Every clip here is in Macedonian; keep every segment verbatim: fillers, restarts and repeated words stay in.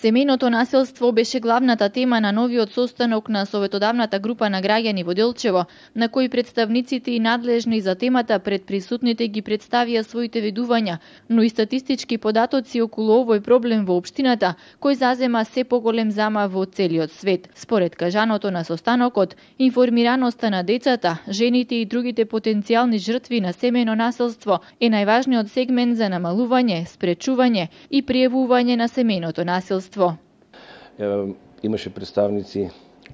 Семејното насилство беше главната тема на новиот состанок на Советодавната група на граѓани во Делчево, на кој представниците и надлежни за темата пред присутните ги представија своите видувања, но и статистички податоци околу овој проблем во општината, кој зазема се поголем замав во целиот свет. Според кажаното на состанокот, информираноста на децата, жените и другите потенцијални жртви на семејно насилство е најважниот сегмент за намалување, спречување и пријавување на семејното насилство. Имаше представници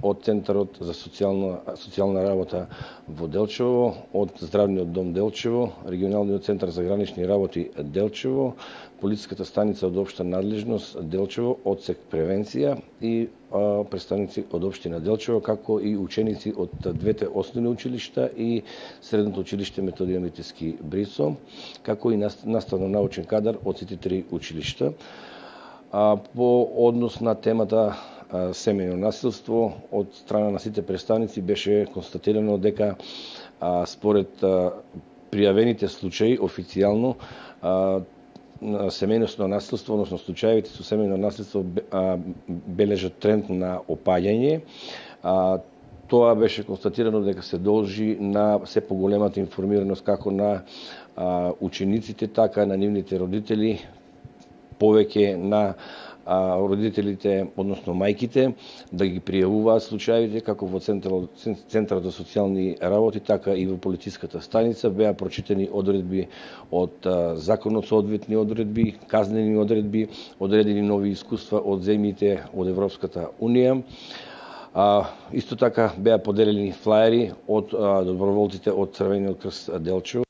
од Центарот за социјална, социјална работа во Делчево, од Здравниот дом Делчево, Регионалниот центар за гранични работи Делчево, Полициската станица од општа надлежност Делчево, одсек превенција и а, представници од општина Делчево, како и ученици од двете основни училишта и Средното училиште Методија Митевски Брисо, како и наставно-научен кадар од сите три училишта. А, по однос на темата а, семејно насилство, од страна на сите представници беше констатирано дека а, според а, пријавените случаи официјално а, семејно насилство, односно случаевите со семејно насилство а, бележат тренд на опаѓање. А, тоа беше констатирано дека се должи на се поголемата информираност како на а, учениците, така на нивните родители, повеќе на а, родителите, односно мајките, да ги пријавуваат случаите, како во Централот, Центарот за социјални работи, така и во полициската станица. Беа прочитани одредби од а, законот, соодветни одредби, казнени одредби, одредени нови искуства од земјите од Европската Унија. А, исто така беа поделени флаери од а, доброволците од Црвениот крст Делчево.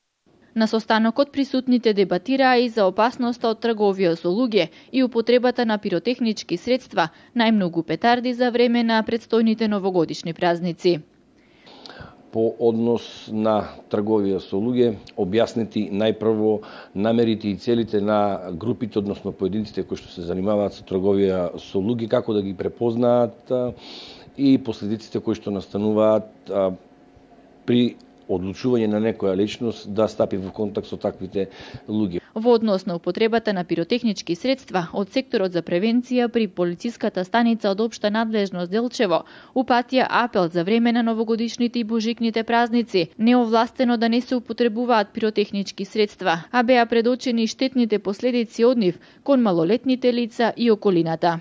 На состанокот присутните дебатираа и за опасноста од трговија со луѓе и употребата на пиротехнички средства, најмногу петарди за време на предстојните новогодишни празници. По однос на трговија со луѓе, објаснети најпрво намерите и целите на групите, односно поединците кои што се занимаваат со трговија со луѓе, како да ги препознаат и последиците кои што настануваат при одлучување на некоја личност да стапи во контакт со таквите луѓе. Во однос на употребата на пиротехнички средства, од секторот за превенција при полициската станица од општа надлежност Делчево упатија апел за време на новогодишните и божикните празници, неовластено да не се употребуваат пиротехнички средства, а беа предочени штетните последици од нив кон малолетните лица и околината.